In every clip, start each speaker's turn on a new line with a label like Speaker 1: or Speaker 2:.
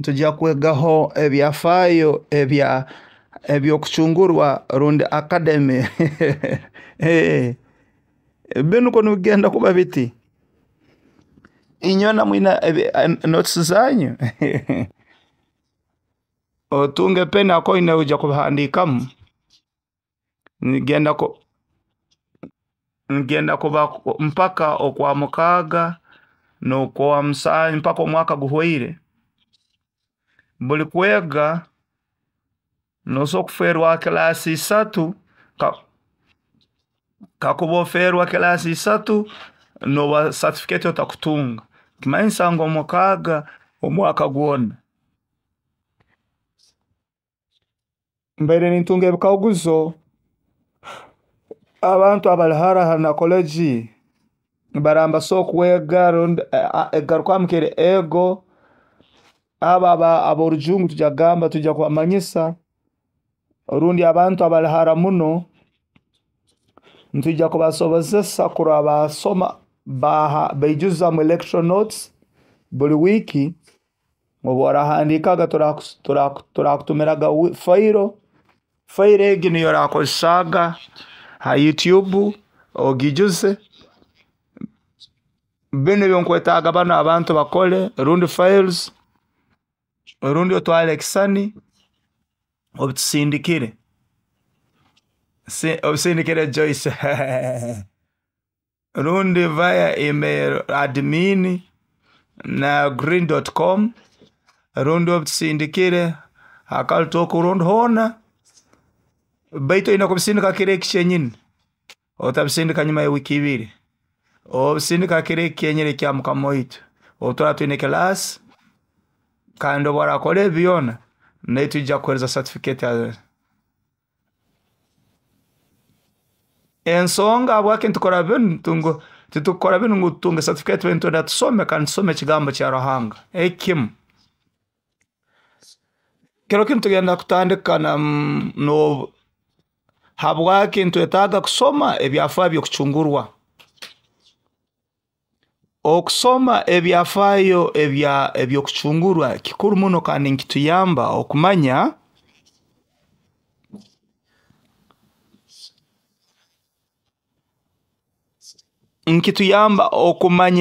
Speaker 1: Ntujya kwegaho ebyafaayo eby'okucungurwa rundi academy. Binu ko nibigenda kuba biti. Inywena mwina notes zanyu. Otunge peni akoine ojya kubihandikamu. Ngenda kuba mpaka okwa mukaaga n'okwa musanju mpaka omwaka guhwaire. Buli kwega nosobola kuferwa kilaasi isatu, kakuba oferwa kilaasi isatu noba certificate otakutunga. Kimanyisa ngu omukaaga omwaka gwona. Mbaire nintunga ebikaguzo, abantu abali hara na college baraba nibasobora kwega rundi egarukamu kiri ego. Abo ab'orujungu tujya kugamba, tujya kubamanyisa, rundi abantu abali hara muno nitwijja kubasobozesa kurora basoma baijuza mu lecture notes buli wiiki. Obu orahandikaga turakutumiraga file, file egi niyo orakozesaga ha YouTube ogijuze. Binu ebinkwetaaga banu abantu bakole, rundi files, rundi otwale ekisani obitusindikire. Obisindikire Joyce. Rundi via email admin na green.com, rundi obitusindikire ha Kaltok rundi hoona, baitu oyina kubisindika kiro eki kyenyini, otabisindika nyuma ya wiiki ibiri, obisindika kiro eki kyenyini ekya mukama waitu obu turaba twine kilaasi, kandi obu orakora ebi byona, naitwe nitwija kukuhereza certificate. Ensonga habwaki nitukora binu, titukukora binu ngu tutunge certificate, baitu nitwenda tusome kandi tusome ekigambo kya Ruhanga. Ekimu. Kiro kinu tugenda kutandika na no habwaki nitwetaaga kusoma ebyafaayo by'okucungurwa. Okusoma ebyafaayo eby'okucungurwa kikuru muno kandi nikituyamba okumanya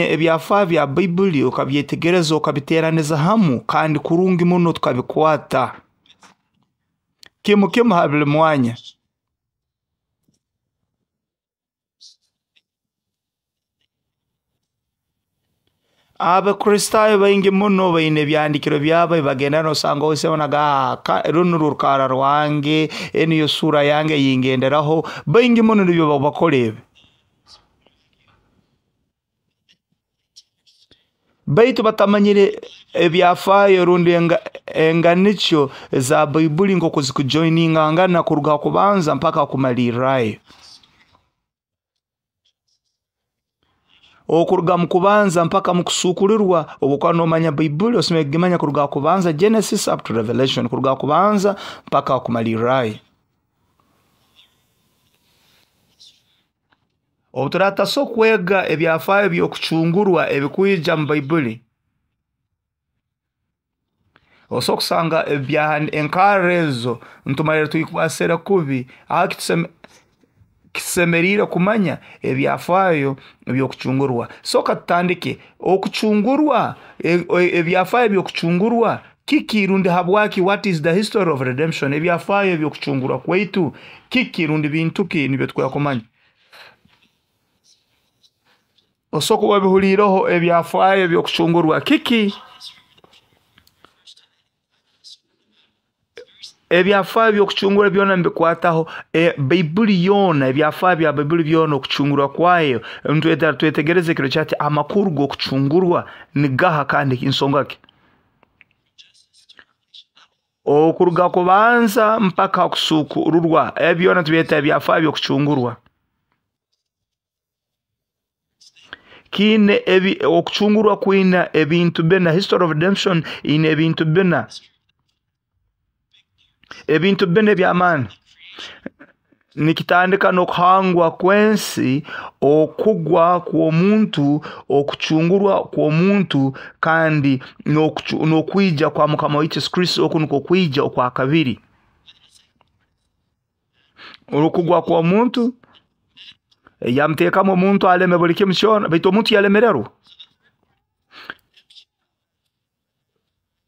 Speaker 1: ebyafaayo bya Baibuli, okabyetegereza, okabiteraniza hamu kandi kurungi muno tukabikwata kimu kimu ha buli mwanya. Abakristaayo baingi muno baine ebyandikiro byabo bagenda, nosanga osanga runu rukara rwange, eniyo sura yange eyingenderaho, baingi muno nibyo bakora ebi. Baitu batamanyire ebyafaayo rundi enganikyo za Baibuli nk'oku zikujoiningangana kuruga kubanza mpaka kumalirrayo. Okuruga mu kubanza mpaka mu kusuukulirwa, obu okuba nomanya Baibuli osemeriire kugimanya kuruga kubanza Genesis up to Revelation, kuruga kubanza mpaka kumalirrayo. Obu turataso kwega ebyafaayo by'okucungurwa ebikwija mu Baibuli, osobola kusanga enkarra ezo ntumalire tuyikwasire kubi. Aho kisemeriire kumanya ebyafaayo by'okucungurwa. Soka tutandike okucungurwa, ebyafaayo by'okucungurwa kiki rundi habwaki, what is the history of redemption, ebyafaayo by'okucungurwa kwaitu kiki rundi bintu ki nibyo tukwiye kumanya. Osobola kuba obihuliireho ebyafaayo by'okucungurwa kiki? Ebyafaayo by'okucungurwa byona nibikwataho Baibuli yoona, ebyafaayo bya Baibuli byona okucungurwa kwayo. Twetegereze ekiro kyati amakuru g'okucungurwa nigaha kandi nsonga ki? Okuruga kubanza mpaka kusuukururwa, ebi byona tubyeta ebyafaayo by'okucungurwa. Kiine ebi okucungurwa kwina ebintu bina, history of redemption ine ebintu bina. Ebintu bina eby'amaani. Nikitandika n'okuhangwa kw'ensi, okugwa kw'omuntu, okucungurwa kw'omuntu, kandi n'okwija kwa Mukama waitu Yesu Kristo. Oku nukwo kwija okwa kabiri. Okugwa kw'omuntu yamuteekamu omuntu aleme buli kimu kyona, baitu omuntu yalemererwa.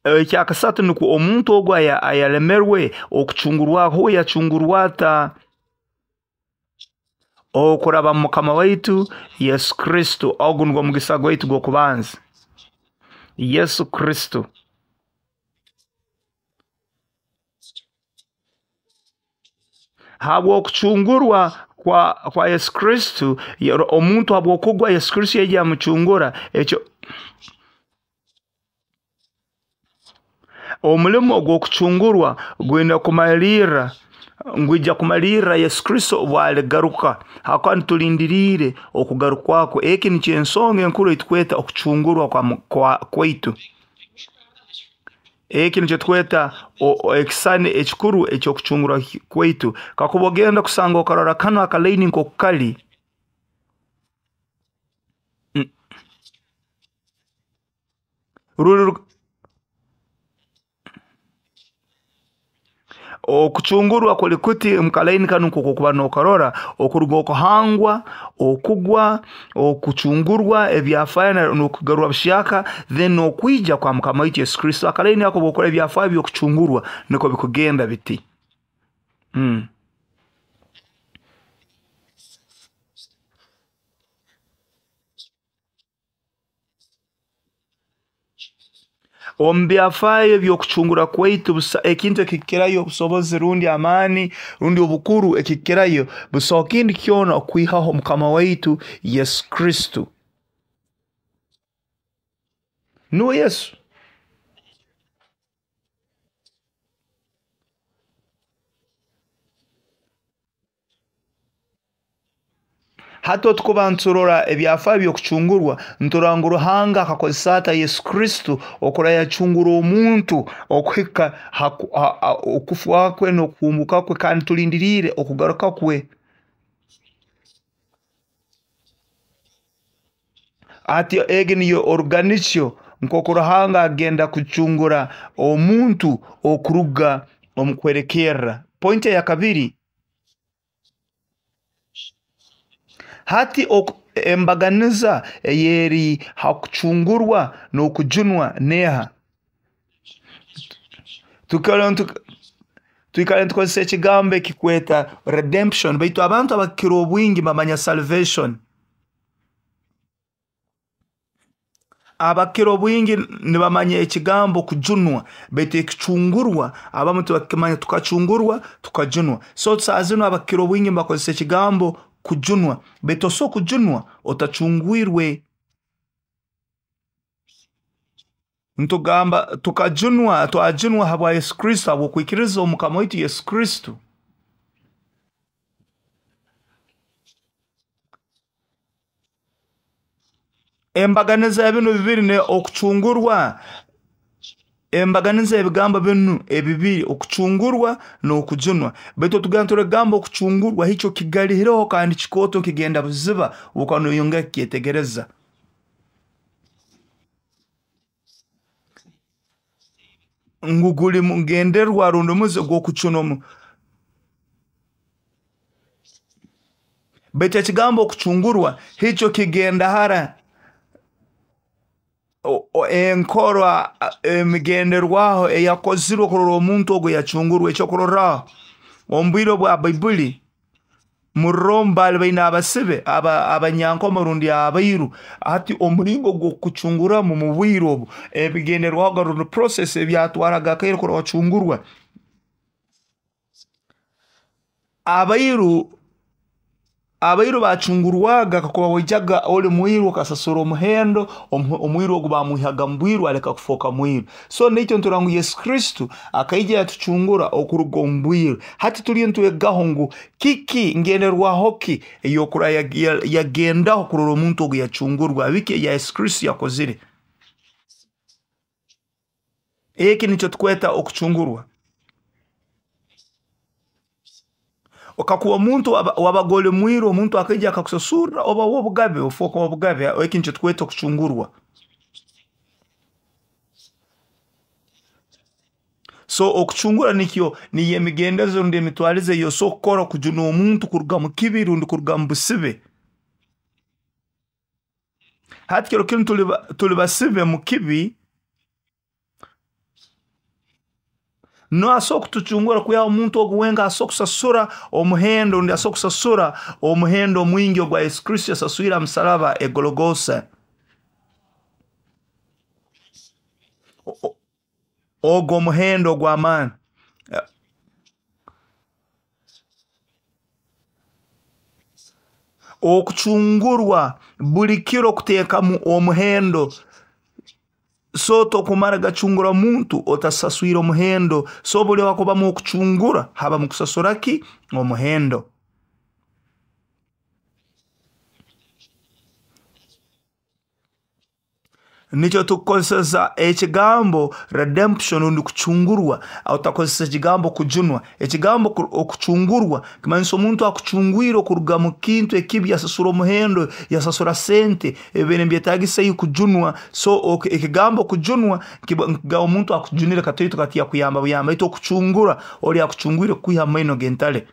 Speaker 1: Ekyakasatu nukwo omuntu ogu ayalemerwe okucungurwa, huwe yacungurwa ata? Okuraba mu Mukama waitu Yesu Kristo. Ogu nugwo mugisa gwaitu gw'okubanza, Yesu Kristo. Habw'okucungurwa kwa Yesu Kristo, omuntu habw'okugwa Yesu Kristo yaija yamucungura. Ekyo omulimo gw'okucungurwa gwine kumalirra, ngwija kumalirra Yesu Kristo obu aligaruka, hakuba nitulindiriire okugarukwa kwe. Eki nikyo ensonga enkuru ei tukweta okucungurwa kwaitu. Eki nikyo tukweta ekisani ekikuru eky'okucungurwa kwaitu. Kakuba ogenda kusanga okarora kanu akalaini nk'oku kali, ruli okucungurwa kuli kuti omu kalaini kanu nk'oku okuba n'okarora, okuruga okuhangwa, okugwa, okucungurwa, ebyafaayo n'okugarurwa buhyaka, then n'okwija kwa Mukama waitu Yesu Kristo. Akalaini ako obwokora ebyafaayo by'okucungurwa nukwo bikugenda biti. Omu byafaayo by'okucungura kwaitu, ekintu ekikirayo obusobozi rundi amaani rundi obukuru ekikirayo, busaho kindi kyona okwihaho Mukama waitu Yesu Kristo. Nuwe Yesu. Hati otukuba nturora ebyafaayo by'okucungurwa, nturora ngu Ruhanga akakozesa ata Yesu Kristo okura yacungura omuntu okuhika okufa kwe n'okuhumbuka kwe, kandi tulindiriire okugaruka kwe. Hati egi niyo oruganikyo nk'oku Ruhanga agenda kucungura omuntu okuruga omu kuhwerekerra. Pointi eya kabiri, hati embaganiza eyeri ha kucungurwa n'okujunwa neha? Twikara nitukozesa ekigambo ekikweta redemption, baitu abantu abakira obwingi bamanya salvation. Abakira obwingi nibamanya ekigambo kujunwa, baitu ekicungurwa abamu tibakimanya. Tukacungurwa, tukajunwa. So saaha zinu abakira obwingi nibakozesa ekigambo kujunwa, baitu osobola kujunwa otacungwirwe. Ntugamba tukajunwa, twajunwa habwa Yesu Kristo, habw'okwikiriza Omukama waitu Yesu Kristo. Embaganiza ya binu bibiri ni okucungurwa. Embaganiza y'ebigambo binu ebibiri, okucungurwa n'okujunwa. Baitu tugenda turagamba okucungurwa hikyo kigalihireho kandi kikooto kigenda buziba obukuba noyongera kukyetegereza. Ngu guli mugenderwa rundi muze gw'okucuna omu. Baitu ekigambo okucungurwa hikyo kigenda hara. Enkora emigenderwaho eyakozirwe kurora omuntu ogu yacungurwa. Ekyokurorraho, omu bwire bwa Baibuli mu Rome baali baine abasibe abanyankoma rundi abairu. Hati omulingo gw'okucunguramu mu bwire obu ebigenderwaho rundi process ebyatwaraga akaire kurora wacungurwa. Abairu bacungurwaga kakuba waijaga oli mwiru okasasura omuhendo, omwiru ogu bamwihaga mu bwiru aleka kufooka mwiru. So naitwe niturora ngu Yesu Kristo akaija yatucungura okuruga omu bwiru. Hati tuliyo nitwegaho ngu kiki ngenderwaho ki ey'okura yagendaho kurora omuntu ogu yacungurwa, biki eya Yesu Kristo yakozire. Eki nikyo tukweta okucungurwa. Kakuba omuntu wabaga oli mwiru, omuntu akaija akakusasurra, oba w'obugabe, ofooka w'obugabe. Eki nikyo tukweta okucungurwa. So okucungura nikyo niyo emigendezo rundi emitwalize ey'osobora kukora kujuna omuntu kuruga mu kibi rundi kuruga mu busibe. Hati kiro kinu tuli basibe mu kibi, n'asobora kutucungura kwihaho omuntu ogu wenka asobora kusasura omuhendo rundi asobora kusasura omuhendo omwingi ogwa Yesu Kristo yasaswire ha musalaba e Gologosa. Ogwo omuhendo ogw'amaani. Okucungurwa buli kiro kuteekamu omuhendo. So tokumara gacungura muntu otasaswire omuhendo. So buli hakubamu okucungura habamu kusasura ki? Omuhendo. Nikyo tukukozesa ekigambo redemption rundi kucungurwa, otakozesa ekigambo kujunwa. Ekigambo okucungurwa kimanyisa omuntu akucungwire okuruga mu kintu ekibi, yasasura omuhendo, yasasura sente ebibaire nibyetagisa iwe kujunwa. So ekigambo kujunwa kiba omuntu akujunire katoito kati yakuyamba buyamba, baitu okucungura oli akucungwire kukwiha mu maino g'entale.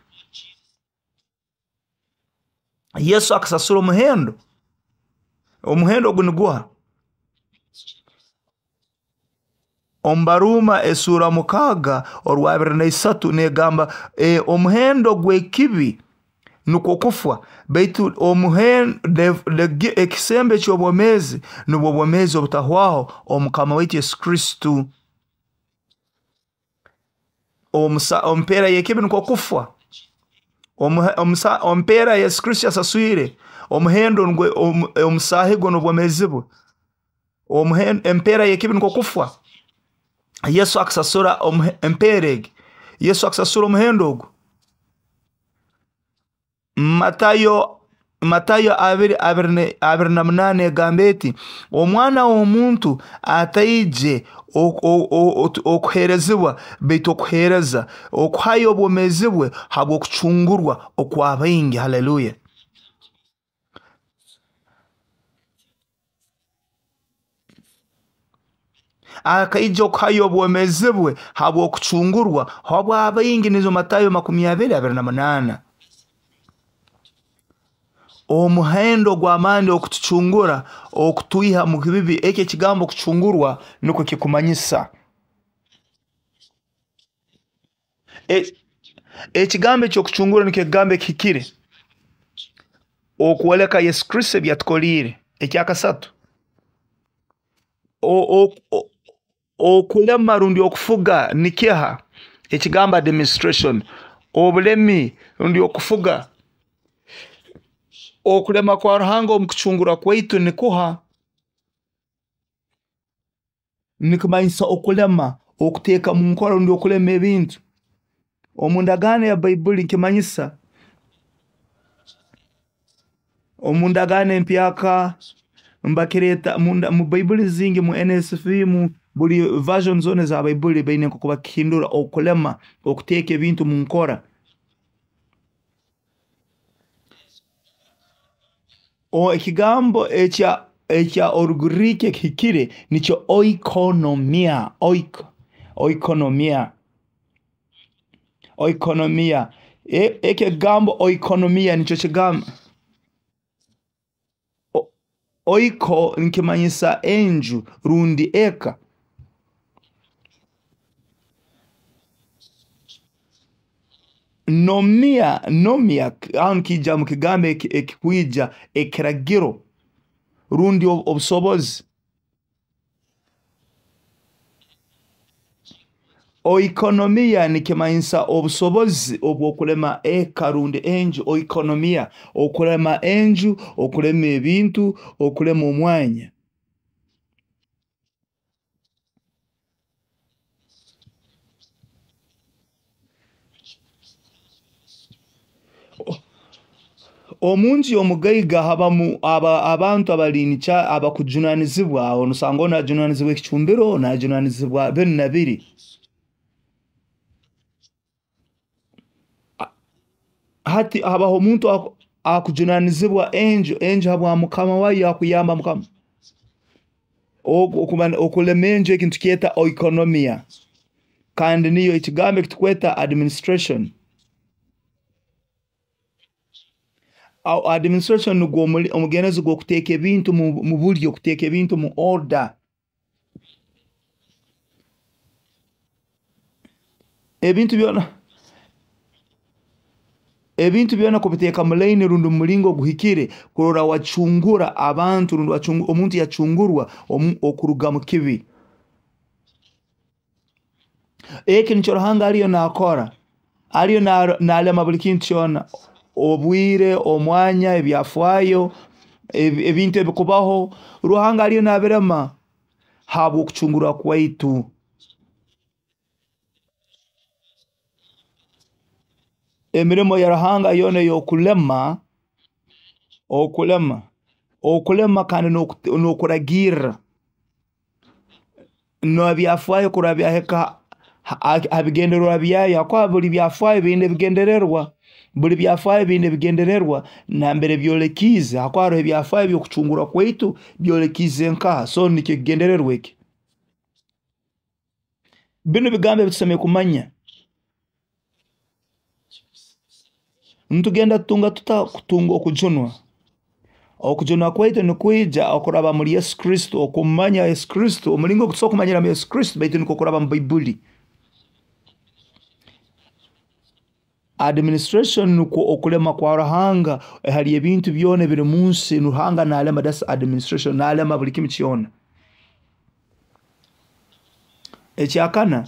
Speaker 1: Yesu akasasura omuhendo. Omuhendo ogu niguha? Omu Baruuma esuura 6 orwa 23 negamba omuhendo gw'ekibi nukwo kufa, baitu ekisembo eky'obwomeezi nubwo bwomeezi obutahwaho omukama waitu Yesu Kristo. Ompeera y'ekibi nukwo kufa. Ompeera Yesu Kristo yasaswire omuhendo omusaahi gwe n'obwomeezi bwe. Empeera y'ekibi nukwo kufa. Yesu akasasura empeera egi. Yesu akasasura omuhendo ogu. Matayo 2:28 egamba eti, omwana w'omuntu ataije okuheerezibwa, baitu okuheereza, okuhayo obwomeezi bwe habw'okucungurwa okwa baingi. Haleluya. Akaija okuhayo obwomeezi bwe habw'okucungurwa habw'abaingi, nizo Matayo 20:28. Omuhendo gw'amaani okutucungura, okutwiha mu bibi, eki ekigambo kucungurwa nukwo kikumanyisa. Ekigambo eky'okucungura nikyo ekigambo ekihikire okwoleka Yesu Kristo ebi yatukoliire. Ekyakasatu, okulema rundi okufuga nikiha? Ekigambo administration, obulemi rundi okufuga. Okulema kwa Ruhanga omu kucungura kwaitu nikuha? Nikimanyisa okulema, okuteeka mu nkora rundi okulema ebintu. Omu ndagaano ya Baibuli nikimanyisa, omu ndagaano empyaka mbakireeta mu Baibuli zingi, mu NSV, mu buli version zoona eza Baibuli baine nk'oku bakihindura okulema, okuteeka ebintu mu nkora. Ekigambo ekya Orugiriiki ekihikire nikyo oikonomia. Oikonomia. Oikonomia. Eki ekigambo oikonomia nikyo kigambo. Oiko nikimanyisa enju rundi eka. Nomia, nomia, aho nikiija mu kigambo ekikwija ekiragiro rundi obusobozi. Oikonomia nikimanyisa obusobozi obw'okulema eka rundi enju. Oikonomia, okulema enju, okulema ebintu, okulema omwanya. Omu nju y'omugaiga habamu abantu abali abakujunanizibwa, osanga onu ajunanizibwa ekicumbiro, onu ajunanizibwa binu na biri. Hati habaho omuntu akujunanizibwa enju habwa mukama wayo akuyamba mukama. Okulema enju ekintu kyeta oikonomia. Kandi niyo ekigambo ekitukweta administration. Administration nugwo omugendezo gw'okuteeka ebintu mu buryo, kuteeka ebintu mu order. Ebintu byona kubiteeka mu line rundi mu mulingo oguhikire kurora wacungura abantu rundi omuntu yacungurwa okuruga mu kibi. Eki nikyo Ruhanga ariyo nakora. Ariyo nalema buli kintu kyona. Obwire, omwanya, ebyafaayo, ebintu ebikubaho, Ruhanga ariyo nabirema habw'okucungurwa kwaitu. Emirimo ya Ruhanga yoona ey'okulema, okulema kandi n'okuragirra. N'ebyafaayo kurora byahika ha bigendererwa byayo, habwokuba buli byafaayo biine ebigendererwa. Buli byafaayo biine ebigendererwa nambere byolekiize, habwokuba haroho ebyafaayo by'okucungurwa kwaitu byolekiize nkaha, so nikyo ekigendererwa eki. Binu bigambo ebitusemeriire kumanya. Nitugenda tutunga tuta kutunga okujunwa? Okujunwa kwaitu nikwija okuraba muri Yesu Kristo, okumanya Yesu Kristo, omulingo ogutusobora kumanyiramu Yesu Kristo baitu nikwo kuraba mu Baibuli. Administration nukwo okulema kwa Ruhanga hali ebintu byona ebiri munsi. Ruhanga nalema, that's administration, nalema buli kimu kyona. Ekyakana,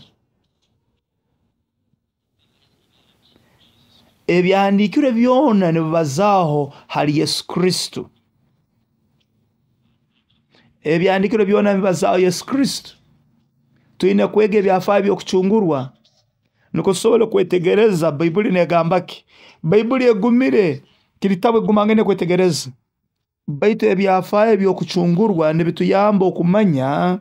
Speaker 1: ebyahandiikirwe byona nibibazaaho hali Yesu Kristo. Ebyahandiikirwe byona nibibazaaho Yesu Kristo. Twine kwega ebyafaayo by'okucungurwa nukwo tusobole kwetegereza Baibuli negamba ki. Baibuli egumire, kiri kitabu ekigumangene kwetegereza. Baitu ebyafaayo by'okucungurwa nibituyamba okumanya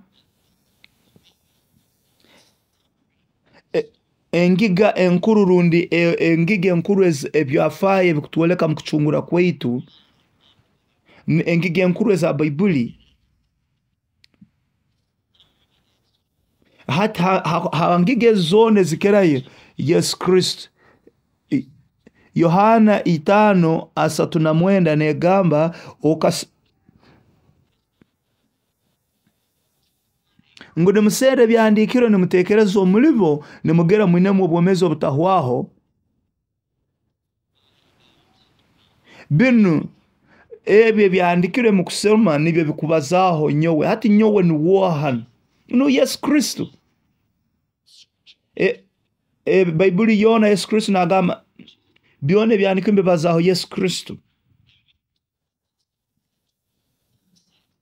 Speaker 1: engiga enkuru rundi engiga enkuru ebyafaayo ebikutwoleka mu kucungura kwaitu, engiga enkuru eza Baibuli. Hati ha ngiga ezo zoona ezikirayo Yesu Kristo. Yohana 5:39 negamba ngu nimuserra ebyahandiikirwe nimutekereza omulibo nimugera mwinemu obwomeezi obutahwaho. Binu ebyo ebyahandiikirwe mukusoma nibyo bikubazaaho nyowe. Hati nyowe niwoha? Nu Yesu Kristo. Baibuli yoona Yesu Kristo nagamba byona ebyahandiikirwe nibibazaaho Yesu Kristo.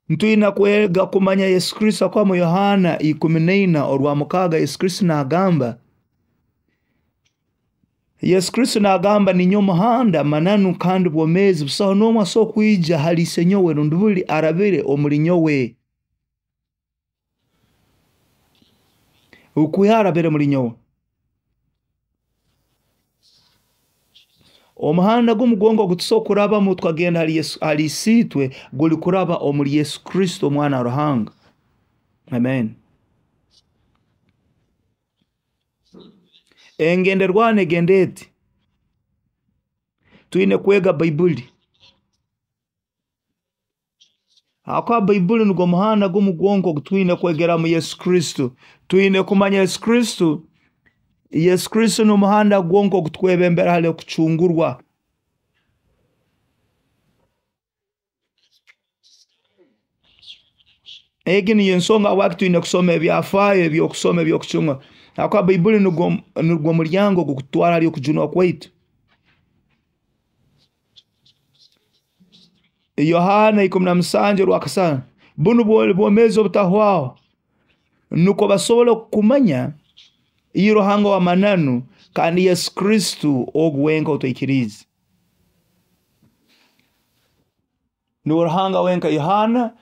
Speaker 1: Ntwina kwega kumanya Yesu Kristo akuba mu Yohana 14:6 Yesu Kristo nagamba. Yesu Kristo nagamba ninyo muhanda mananu kandi bwomezi busaho n'omwe asobora kwija hali isenyowe rundi buli arabire omuli nyowe. Okwiha arabire muli nyowe. Omuhanda gumu gwonka ogutusobora kurabamu tukagenda hali Isiitwe guli kuraba omuli Yesu Kristo omwana wa Ruhanga. Amen. Engenderwaho egenda eti. Twine kwega Baibuli. Habwokuba Baibuli nugwo muhanda gumu gwonka ogutwine kwegeramu Yesu Kristo. Twine kumanya Yesu Kristo. Yesu Kristo n'omuhanda gwonka ogutwebembera hali okucungurwa. Egi niyo ensonga habwaki twine kusoma ebyafaayo eby'okusoma eby'okucungurwa. Habwokuba Baibuli nugwo mulyango ogukutwara hali okujunwa kwaitu. Yohana 17:5 bunu bwomezi obutahwaho nukwo basobole kumanya iwe Ruhanga wa mananu kandi Yesu Kristo ogu wenka otwikiriize. Nuwe Ruhanga wenka. Yohana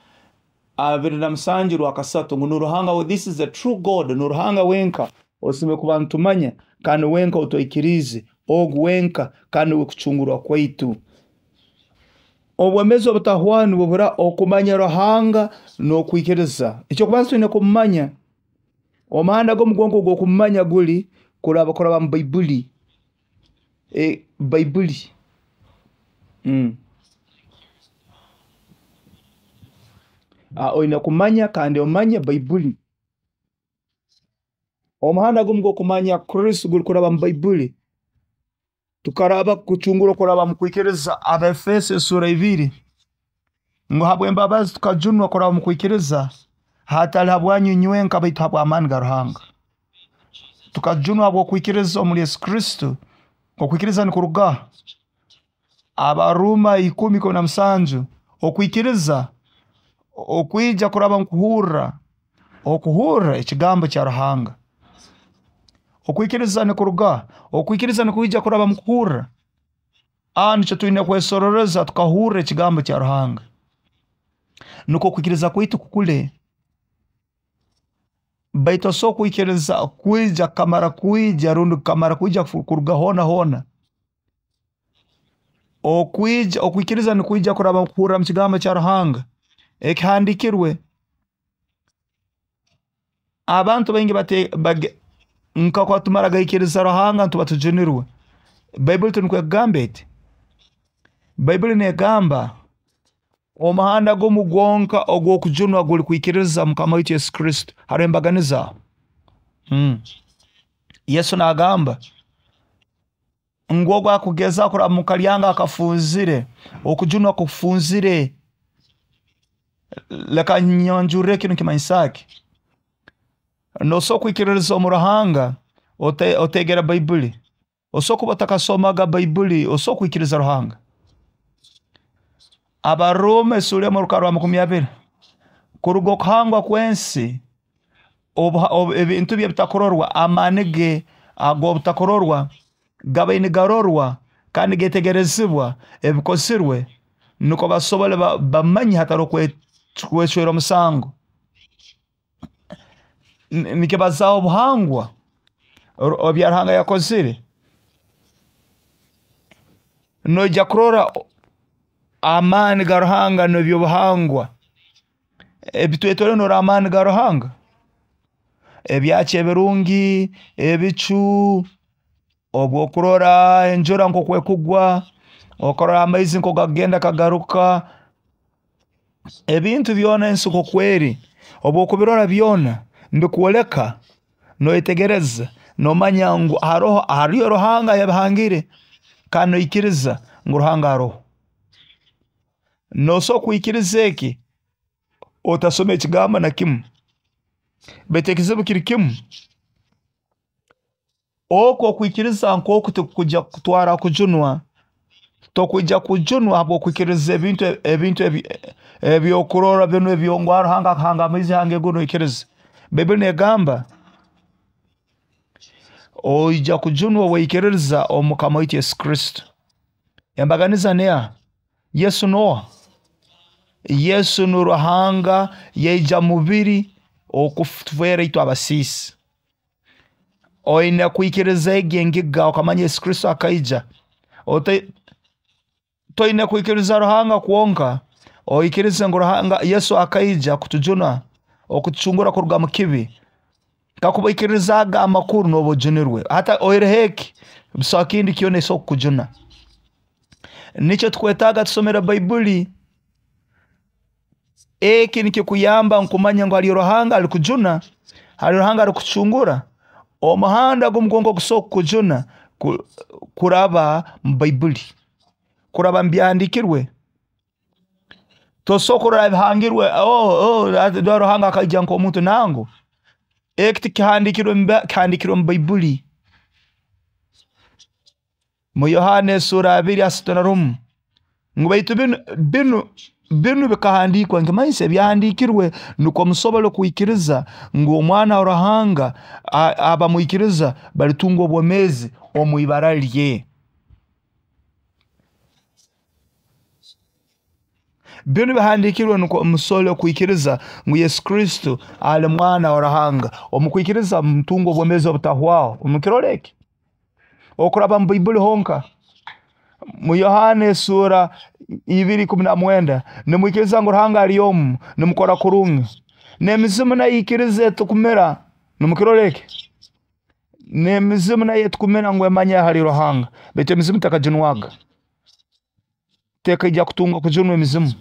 Speaker 1: 27:3 ngu ni Ruhanga, this is the true God, ni Ruhanga wenka osemeriire kuba nitumanya kandi wenka otwikiriize. Ogu wenka kandi nuwe kucungurwa kwaitu. Obwomeezi obutahwaho nibubura okumanya Ruhanga n'okwikiriza. Ekyokubanza twine kumumanya. Omuhanda gumu gwonka ogw'okumumanya guli kuraba mu Baibuli. Baibuli. Oine kumanya kandi omanye Baibuli. Omuhanda gumu gw'okumanya Kristo guli kuraba mu Baibuli. Tukaraba kucungurwa kuraba mu kwikiriza. Abaefeso esuura 2 ngu habw'embabazi tukajunwa kuraba mu kwikiriza, hatali habwanyu inywenka baitu habw'amaani ga Ruhanga. Tukajunwa habw'okwikiriza omuli Yesu Kristo. Okwikiriza nikuruga Abaroma 10:17. Okwikiriza okwija kuraba mu kuhurra, okuhurra ekigambo kya Ruhanga. Okwikiriza nikuruga, okwikiriza nikwija kuraba mu kuhurra. Nikyo twine kwesororeza tukahurra ekigambo kya Ruhanga, nukwo okwikiriza kwaitu kukule. Baitu tosobola kwikiriza kwija kukamara kwija rundi kukamara kwija kuruga hoona hoona. Okwikiriza nikwija kuraba mu kuhurra mu kigambo kya Ruhanga ekihandiikirwe. Abantu baingi nka tumara gaikiriza Ruhanga nituba tujunirwe. Baibuli tinukwo ekugamba eti. Baibuli negamba omuhanda gumu gwonka ogw'okujunwa guli kwikiriza Mukama waitu Yesu Kristo. Haroho embaganiza aho. Yesu nagamba ngu ogu akugeza kuraba mu kalyanga akafunzire, okujunwa kufunzire. Leka nyanjurre kinu nikimanyisa ki. Nosobola kwikiririza omu Ruhanga oteegere Baibuli. Osobola kuba otakasomaga Baibuli, osobola kwikiriza Ruhanga. Abaroma esuura 1 orukarra rwa 20. Kuruga okuhangwa kw'ensi, ebintu bye ebitakurorwa, amaani ge ag'obutakurorwa gabaire nigarorwa kandi nigetegerezibwa ebikozirwe, nukwo basobole bamanye hataroho kwecwera omusango. Nikibazaaho obuhangwa ebya Ruhanga yakozire. Noija kurora amaani ga Ruhanga n'ebyobuhangwa ebitwetoroire, norora amaani ga Ruhanga, ebyakyo ebirungi, ebicu, obwokurora enjura nkoku ekugwa, okarora amaizi nkoku gakugenda gakagaruka, ebintu byona ensi nkoku eri, obwokubirora byona nibikwoleka, noyetegereza, nomanya ngu hariyo Ruhanga ayabihangire, kandi noikiriza ngu Ruhanga aroho. Nosobola kwikiriza eki otasoma ekigambo na kimu, baitu ekizibu kiri kimu, oku okwikiriza nk'oku tikukwija kukutwara kujunwa. Tokwija kujunwa habw'okwikiriza ebintu ebyokurora binu ebyo ngu Ruhanga akahanga amaizi hanga eiguru noikiriza. Baibuli negamba oija kujunwa owaikiririza omu Mukama waitu Yesu Kristo. Embaganiza neha? Yesu noha? Yesu ni Ruhanga yaija mubiri okutufeera itwe abasiisi. Oine kwikiriza egi engiga okamanya Yesu Kristo akaija. Toine kwikiriza Ruhanga kwonka, oikirize ngu Ruhanga Yesu akaija kutujuna, okutucungura kuruga mu kibi. Kakuba oikiririzaaga amakuru nooba ojunirwe. Hati oihireho eki, busaho kindi kyona ekisobora kukujuna. Nikyo tukwetaaga tusomere Baibuli. Eki nikikuyamba nkumanya ngu hariyo Ruhanga alikujuna, hariyo Ruhanga alikucungura. Omuhanda gumu gwonka ogusobola kukujuna kuraba mu Baibuli, kuraba mu byahandiikirwe. Tosobola kurora ebihangirwe, Ruhanga akaija nk'omuntu nangu. Eki tikihandiikirwe kihandiikirwe mu Baibuli. Mu Yohana esuura 2:31 ngu baitu binu bikahandiikwa nkimanyisa ebyahandiikirwe nukwo musobole kwikiriza ngu omwana wa Ruhanga abamwikiriza balitunga obwomeezi omu ibara lye. Binu bihandiikirwe nukwo musobole kwikiriza ngu Yesu Kristo ali mwana wa Ruhanga. Omu kwikiriza mutunga obwomeezi obutahwaho. Mukirora eki? Okuraba mu Baibuli honka. Mu Yohana esura 2:19, nimwikiriza ngu Ruhanga ali omu, nimukora kurungi. N'emizimu nayo ikiriza etukumira, nimukirora eki? N'emizimu nayo etukumira ngu emanya hali Ruhanga, baitu emizimu tekajunwaga. Tekaija kutunga kujunwa emizimu.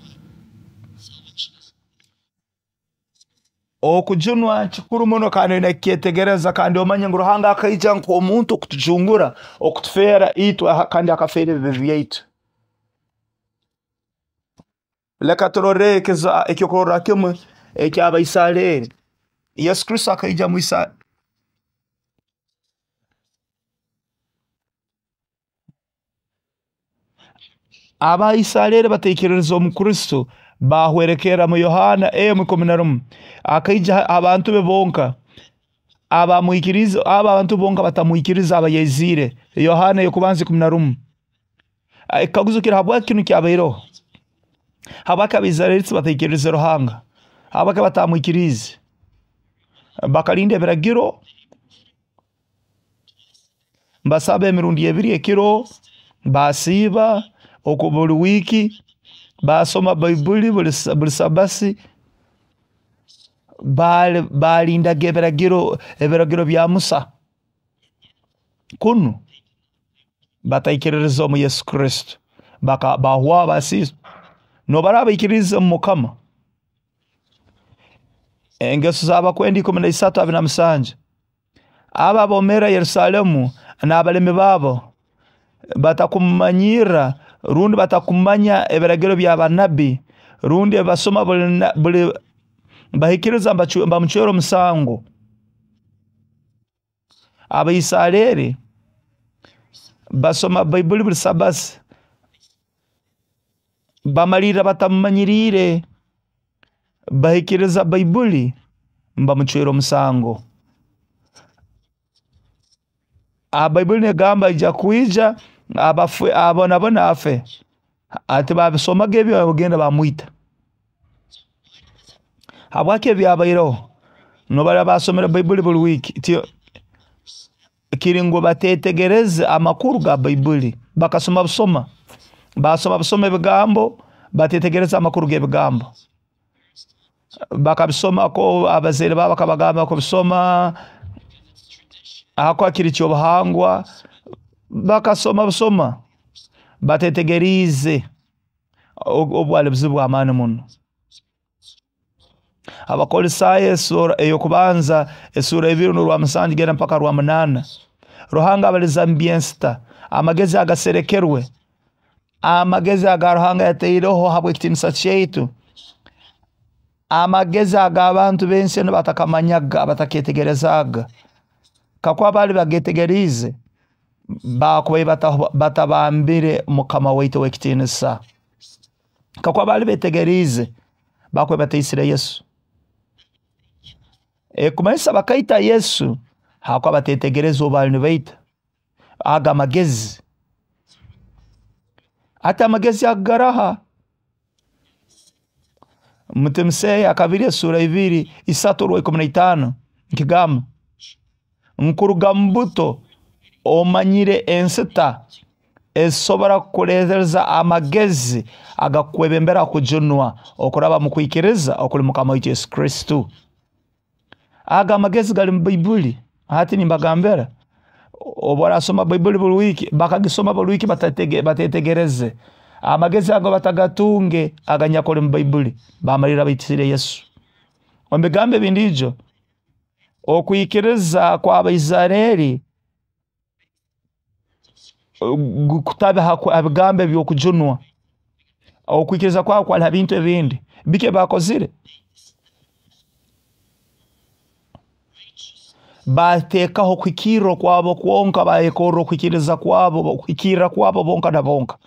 Speaker 1: Okujunwa kikuru muno kandi oine kukyetegereza kandi omanye ngu Ruhanga akaija nk'omuntu okutujungura, okutufeera itwe kandi akafeera ebibi byaitu. Leka turore ekyokurorra kimwe eky'Abaisareri. Yesu Kristo akaija mu Isa. Abaisareri bataikiririze omu Kristo, bahwerekerra mu Yohana 1:11. Akaija abantu be bonka abamwikirize, abo abantu bonka batamwikiriza abayaiziire. Yohana ey'okubanza 11. Ekikaguzo kiri, habwaki kinu kyabaireho? Habwaki Abaisareri bataikiririze Ruhanga? Habwaki batamwikiriize? Bakalinda ebiragiro, basaba emirundi ebiri ekiro, basiiba oku buli wiiki, basoma Baibuli buli sabasi, balindaga ebiragiro bya Musa. Kunu bataikiririza omu Yesu Kristo, bahwaho basiisa. Nobaraba baikiririze omu Mukama. Engeso z'abakwenda 13:27. Abo abomeera Yerusalemu n'abalemi baabo batakumanyirra rundi batakumanya ebiragiro by'abanabbi rundi ebasoma buli bahikiriza bamucwera omusango. Abaisareri basoma Baibuli buli sabasi, bamalirra batamumanyiriire, bahikiriza Baibuli bamucwera omusango. Baibuli negamba aija kwija abafe abonabona afe. Ati babisomaga ebyo bagenda bamwita. Habwaki ebyabaireho? Nobara basomere Baibuli buli wiiki. Kiri ngu batetegereze amakuru ga Baibuli. Bakasoma busoma. Basoma busoma ebigambo, batetegereze amakuru g'ebigambo. Bakabisoma ko abazaire babo bakabagamba kubisoma, ahakuba kiri ky'obuhangwa, bakasoma busoma, batetegeriize obwali buzibu bw'amaani muno. Abakolisaayo esura ey'okubanza esura 2:7 genda mpaka 8. Ruhanga abaliza mu by'ensita, amagezi agaserekerwe, amagezi aga Ruhanga yataireho habw'ekitiinisa kyaitu, amagezi ag'abantu b'ensi enu batakamanyaga, bataketegerezaaga. Kakuba baali bagetegeriize, bakubaire batabambire Mukama waitu ow'ekitiinisa. Kakuba baali betegeriize, bakubaire bataisire Yesu. Ekumanyisa bakaita Yesu hakuba batetegereza obu baali nibaita. Aga amagezi. Ati amagezi agaraha. Mutimiseyo akabiri esura 2 3:15 nkigamba nkuruga mu buto omanyire ensita ezisobora kukuleeteza amagezi agakukwebembera kujunwa okuraba mu kwikiriza okuli Mukama waitu Yesu Kristo. Aga amagezi gali mu Baibuli. Hati nimbagambira, obu orasoma Baibuli buli wiiki, bakagisoma buli wiiki batetegereze amagezi ago batagatunge aganyakuli mu Baibuli, bamalira baitisire Yesu. Omu bigambo ebindiijo, okwikiriza kw'Abaisareri kutabe ha bigambo eby'okujunwa. Okwikiriza kwabo kwali ha bintu ebindi. Biki ebibakozire? Bateekaho okuhikirra okwabo kwonka, bayekorra okwikiriza kwabo, okuhikirra kwabo bonka na bonka.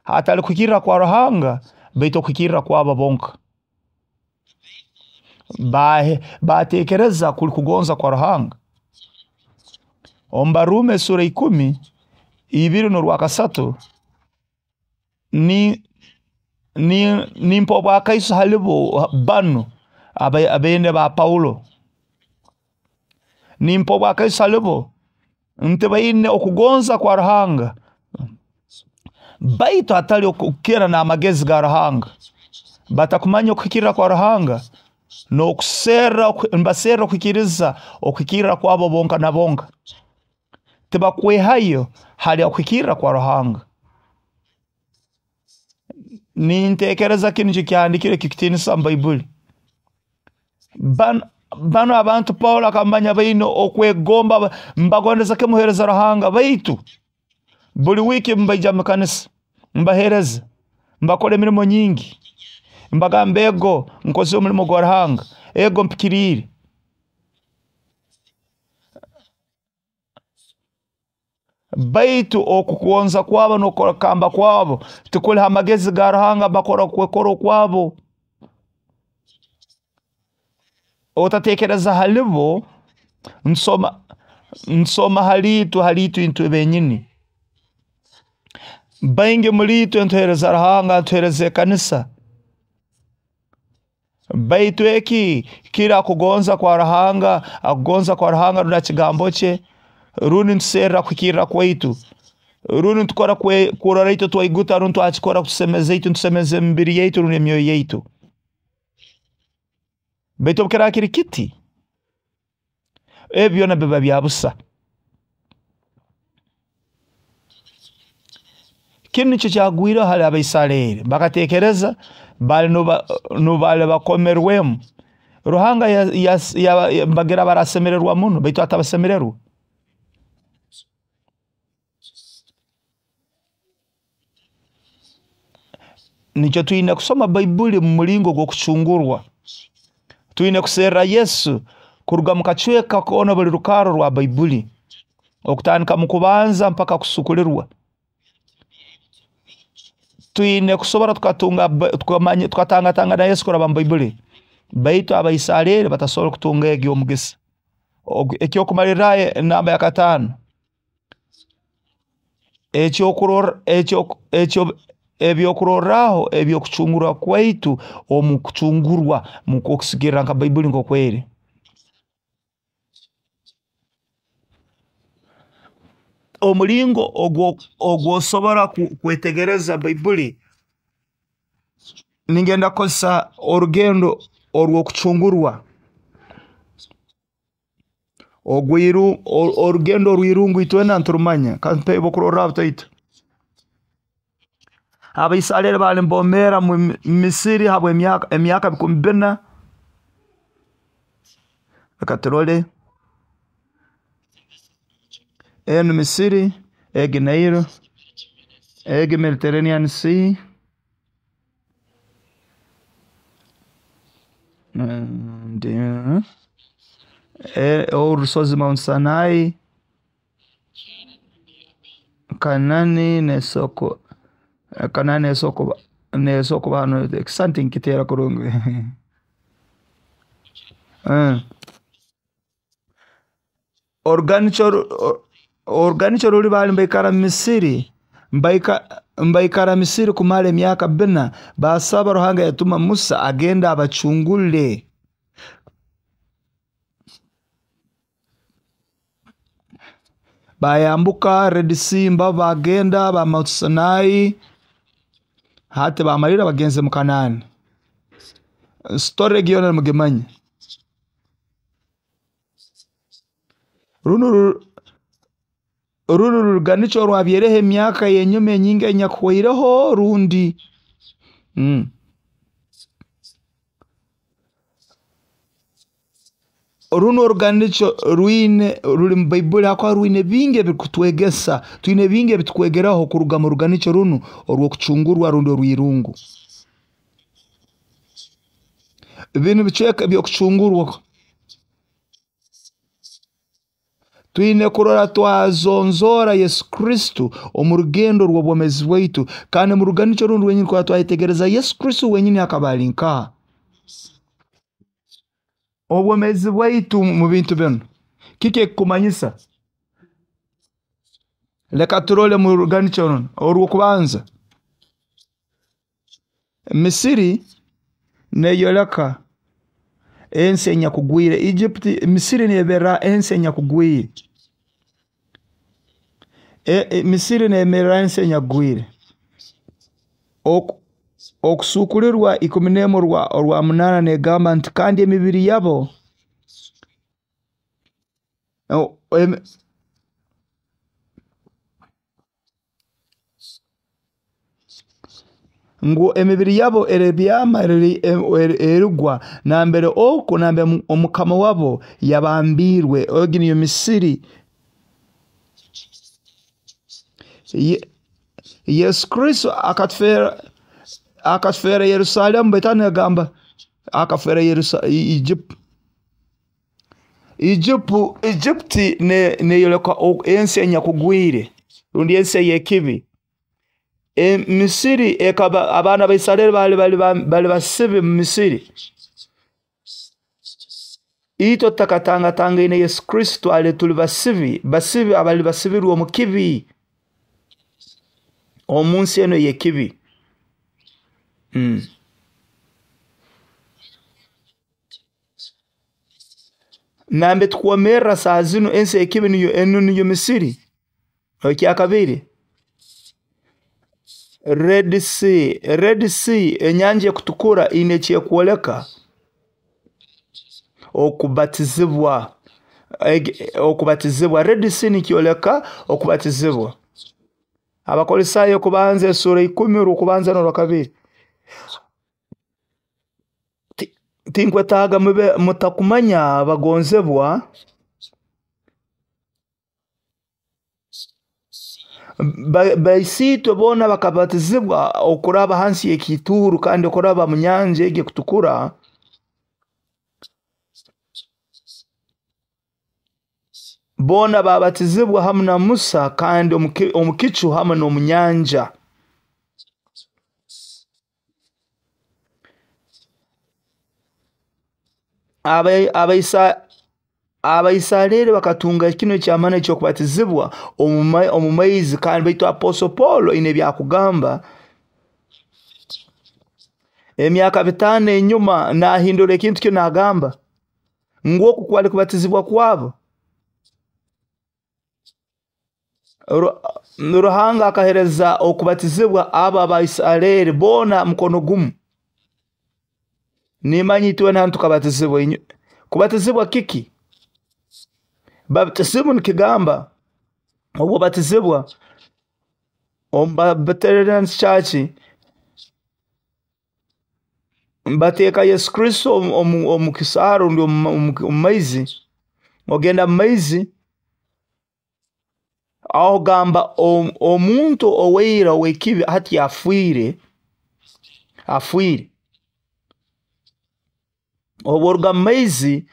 Speaker 1: Hatali kuhikirra kwa Ruhanga, baitu okuhikirra kwabo bonka. Bateekereza kuli kugonza kwa Ruhanga. Omu Baruumi esura 10, 2:3, nimpa obwakaiso halibo banu abeene ba Paulo. Nimpa obwakaiso halibo Nti baine okugonza kwa Ruhanga, baitu hatali okukira n'amagezi ga Ruhanga. Batakumanya okuhikirra kwa Ruhanga n'okuserra, nibaserra okuhikiriza okuhikirra kwabo bonka na bonka. Tibakwehayo hali okuhikirra kwa Ruhanga. Nintekereza kinu nikyo kyahandiikirwe ekikutiinisa omu Baibuli. Banu abantu Paulo akamanya baine okwegomba, mbagondeza kimu kuheereza Ruhanga, baitu buli wiiki mbaija mu kanisa, mbaheereza, mbakora emirimo nyingi, mbagamba ego nkozire omulimo gwa Ruhanga, ego mpikiriire. Baitu okugonza kwabo n'okukamba kwabo tikuli ha magezi ga Ruhanga, bakora okwekora okwabo. Otatekereza halibo, nsoma haliitwe itwe benyini. Baingi muli itwe ntuheereza Ruhanga, ntuheereza ekanisa, baitu eki kiri akugonza kwa Ruhanga, akugonza kwa Ruhanga rundi kigambo kye, rundi ntuserra kuhikirra kwaitu, rundi ntukora kurora itwe twaiguta, rundi twakikora kutusemeza itwe, ntusemeza emibiri yaitu rundi emyoyo yaitu. Baitu obu kiraba kiri kiti, ebi byona biba bya busa. Kinu nikyo kyagwireho hali Abaisareri, bakatekereza bali nubali bakomerwemu. Ruhanga bagira barasemererwa muno, baitu atabasemererwa. Nikyo twine kusoma Baibuli mu mulingo gw'okucungurwa. Twine kuserra Yesu kuruga mu kacweka koona buli rukarra rwa Baibuli, okutandika mu kubanza mpaka kusukulirwa. Twine kusobora tukatunga tukamanya tukatangatangana Yesu kuraba mu Baibuli. Baitu Abaisareri batasobora kutunga egyo omugisa. Ekyokumalirrayo enamba ya 5. Ebyokurorraho ebyokucungurwa kwaitu omu kucungurwa mukusigikirra nka Baibuli nk'oku eri. Omulingo ogw'osobora kwetegereza Baibuli, ningenda kukozesa orugendo orw'okucungurwa. Orugendo orw'irungu itwena niturumanya, kampe ebyokurorraho bitaito. Abaisareri bali nibomeera mu Misiri habw'emyaka emyaka 4,000. Leka turole enu Misiri, egi Nailo, egi Mediterranean Sea, orusozi Mount Sinai, Kanani nesoko, Kanani nesoko, nesoko hano ekisisani tinkiteera kurungi. Oruganikyo ruli bali nibaikara Misiri, mbaikara Misiri kumara emyaka 4, basaba Ruhanga yatuma Musa agenda abacungule. Bayambuka Red Sea, bagenda ba Mount Sinai, hati bamalira bagenze mu Kanaani. Story egi yoona nimugimanya. Runu ruruganikyo orwabaireho emyaka y'enyuma enyingi enyakuhweireho rundi. Runu oruganikyo rwine ruli mu Baibuli hakuba rwine bingi ebirukutwegesa, twine bingi ebitukwegeraho kuruga mu ruganikyo runu orw'okucungurwa rundi orw'irungu. Binu bicweka eby'okucungurwa. Twine kurora twazonzora Yesu Kristo omu rugendo rw'obwomeezi bwaitu, kandi mu ruganikyo runu rwenyini kurora twayetegereza Yesu Kristo wenyini akaba ali nkaha. Obwomeezi bwaitu mu bintu binu kiki ekikumanyisa? Leka turole mu ruganikyo runu orw'okubanza. Misiri neyoleka ensi enyakugwire. Egypt, Misiri neberra ensi enyakugwire. Misiri nemerra ensi enyakugwire. Okusuukururwa 11:8 negamba nti kandi emibiri yabo ngu emibiri yabo erebyama erigwa nambere oku nambere omukama wabo yabambirwe. Egi niyo Misiri. Yesu Kristo akatufera Yerusalemu, baitu nagamba akafera Egypt. Egypt neyoleka ensi enyakugwire rundi ensi eyekibi. Misiri ekaba abaana ba Isareri bali basibe mu Misiri. Itwe tutakatangatangaine Yesu Kristo twali tuli basibi abali basibirwe omu kibi, omu nsi enu eyekibi. Nambe tukwomerra saa zinu ensi ekibi niyo enu niyo Misiri. Ekyakabiri, Red Sea. Red Sea, enyanja ekutukura ine ekyekwoleka okubatizibwa. Okubatizibwa Red Sea nikyoleka okubatizibwa. Abakolisayo kubanza esura 10 orw'okubanza n'orwakabiri. Tinkwetaaga mube mutakumanya abagonzebwa baisitwe boona bakabatizibwa okuraba hansi y'ekiituuru kandi okuraba mu nyanja egi ekutukura. Boona babatizibwa hamu na Musa kandi omu kicu hamu n'omu nyanja. Abaisareri bakatunga kino ekyamani ekyokubatizibwa omu maizi, kandi baitu Apostle Paul ine ebyakugamba emyaka 5 enyuma nahindura ekintu kino, nagamba ngu oku kwali kubatizibwa kwabo. Ruhanga akahereza okubatizibwa abo Abaisareri boona mukono gumu. Nimanyi itwena hanu tukabatizibwa. Kubatizibwa kiki? Baptisimu nikigamba obubatizibwa omu Baptist Church bateeka Yesu Kristo omu kisaaru rundi omu maizi. Ogenda mu maizi aho gamba omuntu oweira owekibi hati afiire. Obworuga mu maizi